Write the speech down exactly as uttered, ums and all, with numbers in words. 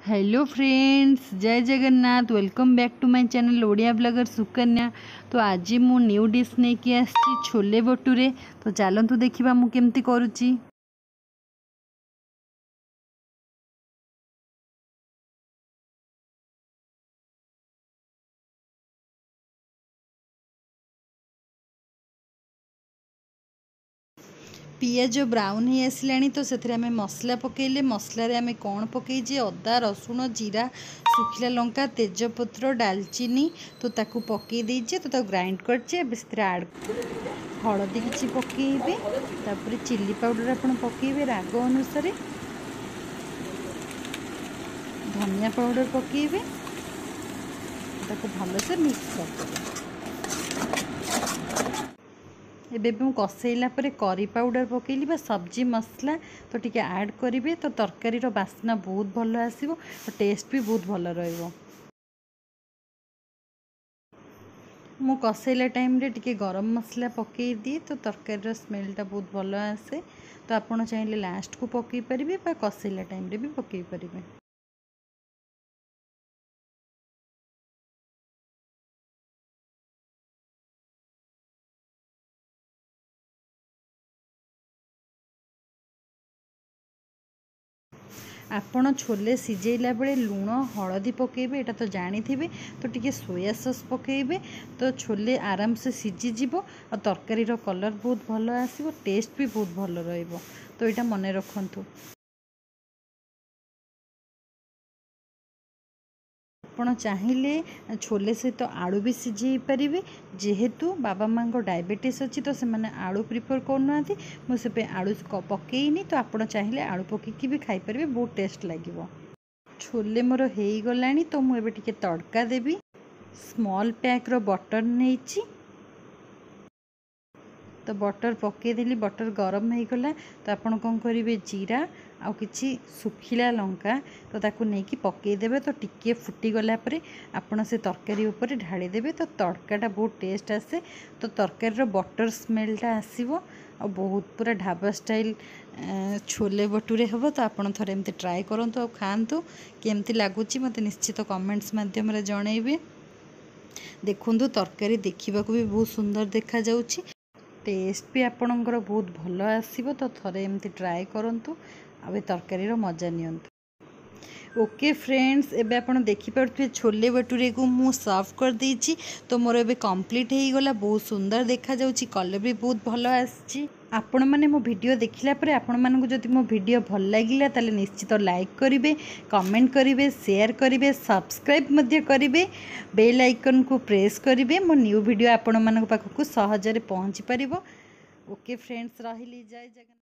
Hello friends, ଜୟ Jagannath. Welcome back to my channel Odia blogger Sukanya. ତ ଆଜି ମୁଁ ନ୍ୟୁ ଡିଶ୍ ନେଇକି ଆସିଛି, ଛୋଲେ ଭଟୁରେ। ତ ଚାଲନ୍ତୁ ଦେଖିବା ମୁଁ କେମିତି କରୁଛି। ପିଆଜ ବ୍ରାଉନ୍ ହେଇ ଆସିଲାଣି, ତ ସେଥିରେ ଆମେ ମସଲା ପକାଇଲେ। ମସଲାରେ ଆମେ କ'ଣ ପକାଇଛେ? ଅଦା, ରସୁଣ, ଜିରା, ଶୁଖିଲା ଲଙ୍କା, ତେଜପତ୍ର, ଡାଲଚିନି, ତ ତାକୁ ପକାଇ ଦେଇଛେ, ତ ତାକୁ ଗ୍ରାଇଣ୍ଡ କରିଛେ। ଏବେ ସେଥିରେ ଆଡ଼୍ ହଳଦୀ କିଛି ପକାଇବେ, ତାପରେ ଚିଲି ପାଉଡ଼ର ଆପଣ ପକାଇବେ ରାଗ ଅନୁସାରେ, ଧନିଆ ପାଉଡ଼ର ପକାଇବେ, ତାକୁ ଭଲସେ ମିକ୍ସ କରିଦେବେ। ଏବେ ମୁଁ କଷେଇଲା ପରେ କରି ପାଉଡ଼ର ପକାଇଲି ବା ସବଜି ମସଲା, ତ ଟିକେ ଆଡ଼୍ କରିବେ, ତ ତରକାରୀର ବାସ୍ନା ବହୁତ ଭଲ ଆସିବ, ଟେଷ୍ଟ ବି ବହୁତ ଭଲ ରହିବ। ମୁଁ କଷେଇଲା ଟାଇମ୍ରେ ଟିକେ ଗରମ ମସଲା ପକାଇ ଦିଏ, ତ ତରକାରୀର ସ୍ମେଲ୍ଟା ବହୁତ ଭଲ ଆସେ। ତ ଆପଣ ଚାହିଁଲେ ଲାଷ୍ଟକୁ ପକାଇ ପାରିବେ ବା କଷେଇଲା ଟାଇମ୍ରେ ବି ପକାଇ ପାରିବେ। ଆପଣ ଛୋଲେ ସିଝେଇଲା ବେଳେ ଲୁଣ ହଳଦୀ ପକାଇବେ, ଏଇଟା ତ ଜାଣିଥିବେ। ତ ଟିକେ ସୋୟା ସସ୍ ପକାଇବେ, ତ ଛୋଲେ ଆରାମସେ ସିଝିଯିବ ଆଉ ତରକାରୀର କଲର୍ ବହୁତ ଭଲ ଆସିବ, ଟେଷ୍ଟ ବି ବହୁତ ଭଲ ରହିବ। ତ ଏଇଟା ମନେ ରଖନ୍ତୁ। ଆପଣ ଚାହିଁଲେ ଛୋଲେ ସହିତ ଆଳୁ ବି ସିଝେଇ ପାରିବେ। ଯେହେତୁ ବାବା ମାଆଙ୍କ ଡାଇବେଟିସ୍ ଅଛି, ତ ସେମାନେ ଆଳୁ ପ୍ରିଫର୍ କରୁନାହାନ୍ତି, ମୁଁ ସେଥିପାଇଁ ଆଳୁ ପକେଇନି। ତ ଆପଣ ଚାହିଁଲେ ଆଳୁ ପକେଇକି ବି ଖାଇପାରିବେ, ବହୁତ ଟେଷ୍ଟ ଲାଗିବ। ଛୋଲେ ମୋର ହେଇଗଲାଣି, ତ ମୁଁ ଏବେ ଟିକେ ତଡ଼କା ଦେବି। ସ୍ମଲ୍ ପ୍ୟାକ୍ର ବଟର୍ ନେଇଛି, ତ ବଟର୍ ପକାଇଦେଲି। ବଟର୍ ଗରମ ହେଇଗଲା, ତ ଆପଣ କ'ଣ କରିବେ? ଜିରା ଆଉ କିଛି ଶୁଖିଲା ଲଙ୍କା, ତ ତାକୁ ନେଇକି ପକାଇଦେବେ। ତ ଟିକିଏ ଫୁଟିଗଲା ପରେ ଆପଣ ସେ ତରକାରୀ ଉପରେ ଢାଳିଦେବେ, ତ ତଡ଼କାଟା ବହୁତ ଟେଷ୍ଟ ଆସେ। ତ ତରକାରୀର ବଟର୍ ସ୍ମେଲ୍ଟା ଆସିବ ଆଉ ବହୁତ ପୁରା ଢାବା ଷ୍ଟାଇଲ୍ ଛୋଲେ ଭଟୁରେ ହେବ। ତ ଆପଣ ଥରେ ଏମିତି ଟ୍ରାଏ କରନ୍ତୁ ଆଉ ଖାଆନ୍ତୁ, କେମିତି ଲାଗୁଛି ମୋତେ ନିଶ୍ଚିତ କମେଣ୍ଟସ୍ ମାଧ୍ୟମରେ ଜଣାଇବେ। ଦେଖନ୍ତୁ, ତରକାରୀ ଦେଖିବାକୁ ବି ବହୁତ ସୁନ୍ଦର ଦେଖାଯାଉଛି, ଟେଷ୍ଟ ବି ଆପଣଙ୍କର ବହୁତ ଭଲ ଆସିବ। ତ ଥରେ ଏମିତି ଟ୍ରାଏ କରନ୍ତୁ ଆଉ ଏ ତରକାରୀର ମଜା ନିଅନ୍ତୁ। ଓକେ ଫ୍ରେଣ୍ଡସ୍, ଏବେ ଆପଣ ଦେଖିପାରୁଥିବେ ଛୋଲେ ଭଟୁରେକୁ ମୁଁ ସର୍ଭ କରିଦେଇଛି। ତ ମୋର ଏବେ କମ୍ପ୍ଲିଟ୍ ହେଇଗଲା, ବହୁତ ସୁନ୍ଦର ଦେଖାଯାଉଛି, କଲର୍ ବି ବହୁତ ଭଲ ଆସିଛି। ଆପଣମାନେ ମୋ ଭିଡ଼ିଓ ଦେଖିଲା ପରେ ଆପଣମାନଙ୍କୁ ଯଦି ମୋ ଭିଡ଼ିଓ ଭଲ ଲାଗିଲା, ତାହେଲେ ନିଶ୍ଚିତ ଲାଇକ୍ କରିବେ, କମେଣ୍ଟ କରିବେ, ସେୟାର କରିବେ, ସବସ୍କ୍ରାଇବ୍ ମଧ୍ୟ କରିବେ, ବେଲ୍ ଆଇକନ୍କୁ ପ୍ରେସ୍ କରିବେ, ମୋ ନ୍ୟୁ ଭିଡ଼ିଓ ଆପଣମାନଙ୍କ ପାଖକୁ ସହଜରେ ପହଞ୍ଚି ପାରିବ। ଓକେ ଫ୍ରେଣ୍ଡସ୍, ରହିଲି, ଜୟ ଜଗନ୍ନାଥ।